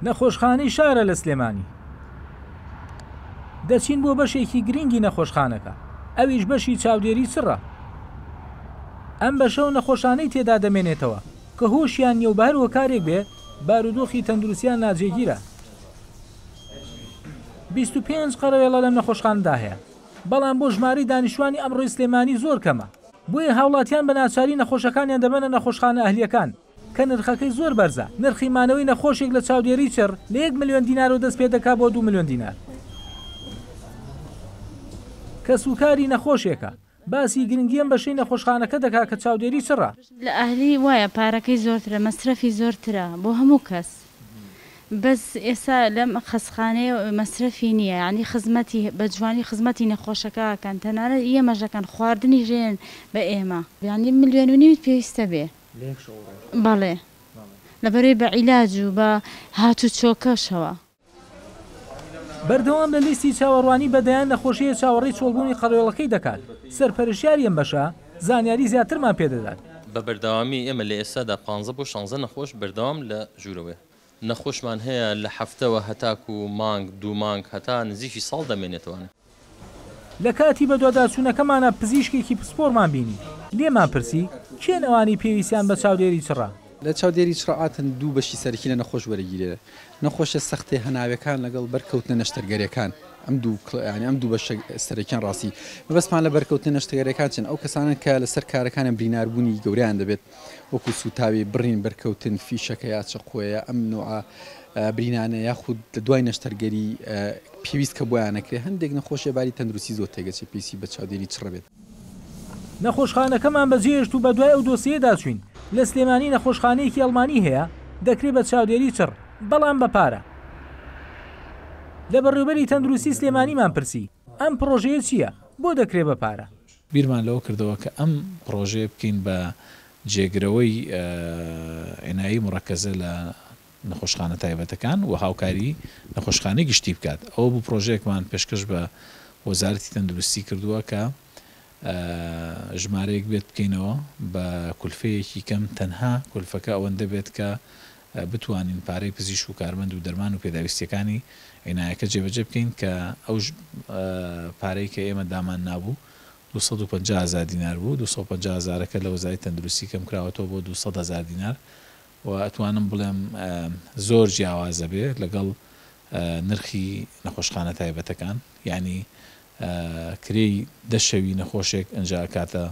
نەخۆشخانەی شارە لە سلێمانی. دەچین بۆ بەشێکی گرنگی نەخۆشخانەکە، ئەویش بەشی چاودێری چڕە. ئەم بەشە و نەخۆشانەی تێدا دەمێنێتەوە کە هۆشیان نییە و بە هەر هۆکارێک بێ بارودۆخی تەندروستیان ناجێگیرە. 25 قەرەوێڵە لەم نەخۆشخانەدا هەیە، بەڵام بۆ ژمارەی دانیشتوانی ئەمڕۆی سلێمانی زۆر کەمە، بۆیە هاوڵاتیان بە ناچاری نەخۆشەکانیان دەبەنە نەخۆشخانە ئەهلییەکان. کە نرخەکەی زۆر بەرزە، نرخی مانەوەی نەخۆشێک لە چاودێریی چڕ لە یەک ملیۆن دینارەوە دەست پێدەکا بۆ دوو ملیۆن دینار. کەسوکاری نەخۆشێکە، باسی گرنگی ئەم بەشەی نەخۆشخانەکە دەکا کە چاودێریی چڕە. لە ئەهلی وایە پارەکەی زۆرترە مەسرەفی زۆرترە بۆ هەموو کەس بەس ئێستا لەم خەسخانەیە مەسرەفی نییە یانی خزمەتی بە جوانی خزمەتی نەخۆشەکە ئەکەن تەنانەت ئێمەش ئەکەن خواردنیش ئەیەن بە ئێمە. یانی ملیۆن و نیوت پێویستە بێ. بەڵێ لەبەرەی بە عیلاج و بە هاتوچۆکەشەوە. بەردەوام لە لیستی چاوەڕوانی بە دەیان نەخۆشییە چاوەڕێی چۆڵبوونی قەڵێڵەکەی دەکات، سەرپەرشتیاری ئەم بەشە زانیاری زیاترمان پێدەدات. بە بەردەوامی ئێمە لە ئێستادا پانزە بۆ شانزە نەخۆش بەردەوام لە ژوورەوەیە، نەخۆشمان هەیە لە هەفتەوە هەتاکو مانگ دوو مانگ هەتا نزیکی ساڵ دەمێنێتەوانێ. لە کاتی بەدواداچوونەکەمانا پزیشکێکی پسپۆڕمان بینی، لێمان پرسی، کێن ئەوانەی پێویستیان بە چاودێری چڕە؟ لە چاودێری چڕ عادەتەن دوو بەشی سەرەکی لە نەخۆش وەرەگیرێ، نەخۆشە سەختێ هەناوێکان لەگەڵ بەرکەوتنە نەشتەرگەرێکان، ئەم دوو یانی ئەم دوو بەشە سەرەکیان ڕاستی مەبەستمان لە بەرکەوتنە نەشتەگەرێکان چن ئەو کەسانەن کە لەسەر کارەکانیان بریناربوونی گەورەیان دەبێت وەکو سووتاوی، بڕین، بەرکەوتن، فیشەکە یا چەقۆیە ئەم نوعە برینانە یاخود لە دوای نەشتەرگەری پێویست کە بۆیان نەکرێت هەندێک نەخۆشیە باری تەندروستی زۆر تێگەچێت پێویستی بە چاودێری چڕ بێت. نەخۆشخانەکەمان بەجێهێشت و بەدوای ئەو دۆسیەیەدا چووین، لە سلێمانی نەخۆشخانەیەکی ئەڵمانی هەیە دەکرێ بە چاودێری چڕ، بەڵام بە پارە. لە بەڕێوبەری تەندروستی سلێمانیمان پرسی، ئەم پڕۆژەیە چییە؟ بۆ دەکرێ بە پارە؟ بیرمان لەوە کردەوە کە ئەم پڕۆژەیە بکەین بە جێگرەوەی عینایی مورەکەزە لە نەخۆشخانە تایبەتەکان و هاوکاری نەخۆشخانەی گشتی بکات، ئەوە بوو پڕۆژەیەکمان پێشکەش بە وەزارەتی تەندروستی کردووە کە ژمارەیەک بێت بکەینەوە بە کولفەیەکی کەم تەنها کولفەکە ئەوەندە بێت کە بتوانین پارەی پزیشک و کارمەند و دەرمان و پێداویستیەکانی عینایەکە جێبەجێ بکەین کە ئەو پارەی کە ئێمە دامان نابوو 250 هەزار دینار بوو 250 هەزارەکە لە وەزارەتی تەندروستی کەم کراوەتەوە بۆ 200 هەزار دینار و ئەتوانم بڵێم زۆر جیاوازە بێ لەگەڵ نرخی نەخۆشخانە تایبەتەکان یانی کرێی دە شەوی نەخۆشێک ئنجا ئەکاتە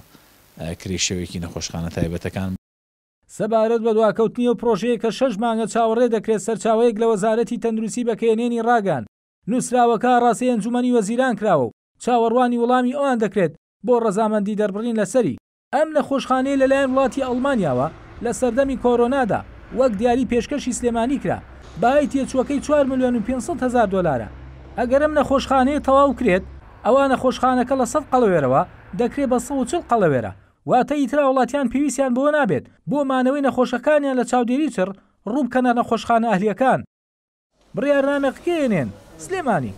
کرێی شەوێکی نەخۆشخانە تایبەتەکان. سەبارەت بە دواکەوتنی ئەو پڕۆژەیە کە شەش مانگە چاوەڕێ دەکرێت سەرچاوەیەک لە وەزارەتی تەندروستی بە کەیەنێنی ڕاگەیاند، نووسراوەکە ئاڕاستەی ئەنجوومەنی وەزیران کراوە و چاوەڕوانی وەڵامی ئەوان دەکرێت بۆ ڕەزامەندی دەربڕین لەسەری. ئەم نەخۆشخانەیە لەلایەن وڵاتی ئەڵمانیاوە لە سەردەمی کۆرۆنادا وەک دیاری پێشکەشی سلێمانی کرا، بەهای تێچووەکەی چوار ملیۆن و 500 هەزار دۆلارە. ئەگەر ئەم نەخۆشخانەیە تەواو کرێت، ئەوا نەخۆشخانەکە لە 100 قەڵەوێرەوە دەکرێت بە 140 قەڵەوێرە، واتە ئیتر هاوڵاتیان پێویستیان بەوە نابێت بۆ مانەوەی نەخۆشەکانیان لە چاودێری چڕ ڕووبکەنە نەخۆشخانە ئەهلییەکان. بڕیارنامە قکەیەنێن، سلێمانی.